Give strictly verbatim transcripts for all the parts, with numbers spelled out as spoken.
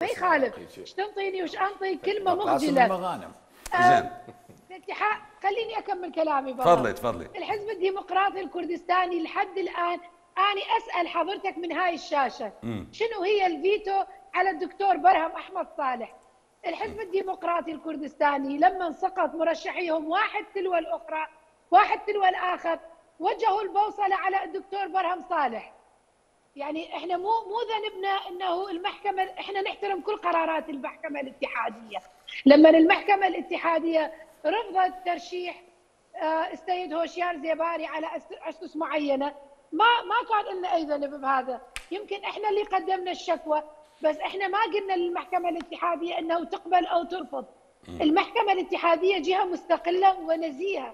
ما يخالف ايش تنطيني وش انطي كلمه مخجله. المغانم. زين. الاتحاد خليني اكمل كلامي بابا. تفضلي تفضلي. الحزب الديمقراطي الكردستاني لحد الان اني اسال حضرتك من هاي الشاشه مم. شنو هي الفيتو على الدكتور برهم احمد صالح؟ الحزب الديمقراطي الكردستاني لما سقط مرشحيهم واحد تلو الاخرى واحد تلو الاخر وجهوا البوصله على الدكتور برهم صالح. يعني احنا مو مو ذنبنا انه المحكمه، احنا نحترم كل قرارات المحكمه الاتحاديه. لما المحكمه الاتحاديه رفضت ترشيح السيد هوشيار زيباري على اسس معينه ما ما كان لنا اي ذنب بهذا، يمكن احنا اللي قدمنا الشكوى بس احنا ما قلنا للمحكمه الاتحاديه انه تقبل او ترفض. المحكمه الاتحاديه جهه مستقله ونزيهه،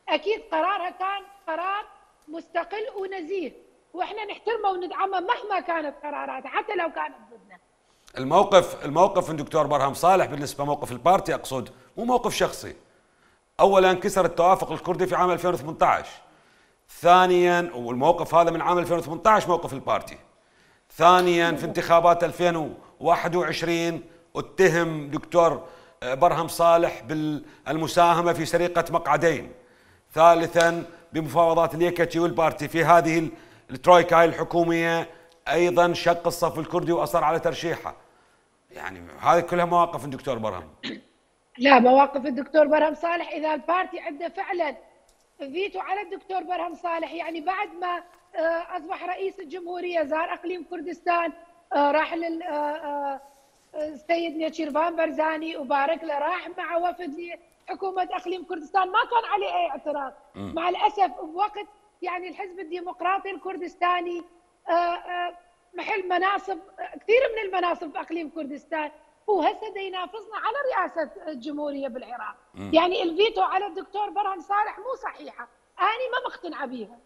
اكيد قرارها كان قرار مستقل ونزيه واحنا نحترمه وندعمه مهما كانت قراراته حتى لو كانت ضدنا. الموقف الموقف من دكتور برهم صالح بالنسبه موقف البارتي اقصد مو موقف شخصي. اولا كسر التوافق الكردي في عام ألفين وثمانية عشر. ثانيا والموقف هذا من عام ألفين وثمانية عشر موقف البارتي. ثانيا في انتخابات ألفين وواحد وعشرين اتهم دكتور برهم صالح بالمساهمه في سرقه مقعدين. ثالثا بمفاوضات اليكتشي والبارتي في هذه الترويكا هاي الحكوميه ايضا شق الصف الكردي واصر على ترشيحه. يعني هذه كلها مواقف الدكتور برهم. لا مواقف الدكتور برهم صالح اذا البارتي عنده فعلا فيتو على الدكتور برهم صالح، يعني بعد ما اصبح رئيس الجمهوريه زار اقليم كردستان، راح لل السيد نيتشيرفان برزاني وبارك له، راح مع وفد لحكومه اقليم كردستان ما كان عليه اي اعتراض. م. مع الاسف بوقت يعني الحزب الديمقراطي الكردستاني محل مناصب كثير من المناصب في اقليم كردستان وهسه ينافسنا على رئاسه الجمهوريه بالعراق. م. يعني الفيتو على الدكتور برهم صالح مو صحيحه، انا ما مقتنعه بيها.